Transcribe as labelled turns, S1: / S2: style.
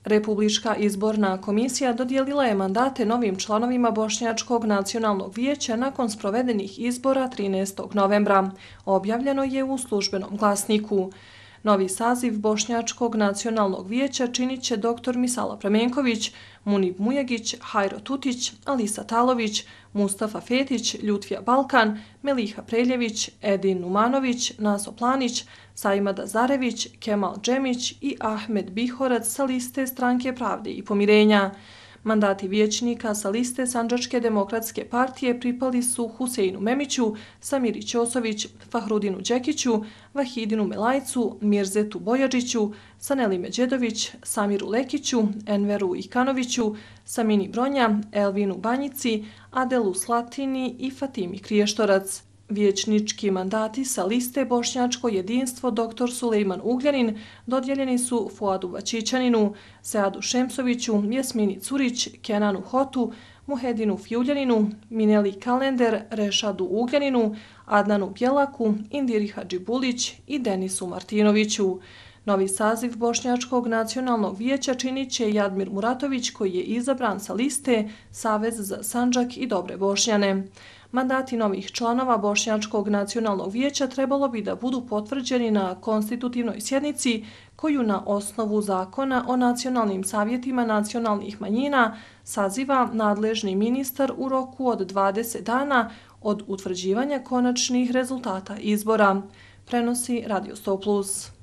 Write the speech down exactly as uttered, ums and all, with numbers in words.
S1: Republička izborna komisija dodijelila je mandate novim članovima Bošnjačkog nacionalnog vijeća nakon sprovedenih izbora trinaestog novembra. Objavljeno je u službenom glasniku. Novi saziv Bošnjačkog nacionalnog vijeća činit će doktor Misala Pramenković, Munib Mujegić, Hajro Tutić, Alisa Talović, Mustafa Fetić, Ljutvija Balkan, Meliha Preljević, Edin Numanović, Naso Planić, Sajmada Zarević, Kemal Džemić i Ahmed Bihorac sa liste Stranke pravde i pomirenja. Mandati vijećnika sa liste Sandžačke demokratske partije pripali su Huseinu Memiću, Samiri Ćosović, Fahrudinu Đekiću, Vahidinu Melajcu, Mirzetu Bojađiću, Saneli Međedović, Samiru Lekiću, Enveru Ikanoviću, Samini Bronja, Elvinu Banjici, Adelu Slatini i Fatimi Kriještorac. Vijećnički mandati sa liste Bošnjačko jedinstvo dr Sulejman Ugljanin dodijeljeni su Fuadu Vačićaninu, Seadu Šemsoviću, Jasmini Curić, Kenanu Hotu, Muhedinu Fjuljaninu, Mineli Kalender, Rešadu Ugljaninu, Adnanu Bjelaku, Indiri Hadžibulić i Denisu Martinoviću. Novi saziv Bošnjačkog nacionalnog vijeća činit će Jadmir Muratović koji je izabran sa liste Savez za Sandžak i Dobre Bošnjane. Mandati novih članova Bošnjačkog nacionalnog vijeća trebalo bi da budu potvrđeni na konstitutivnoj sjednici koju na osnovu zakona o nacionalnim savjetima nacionalnih manjina saziva nadležni ministar u roku od dvadeset dana od utvrđivanja konačnih rezultata izbora, prenosi Radio sto plus.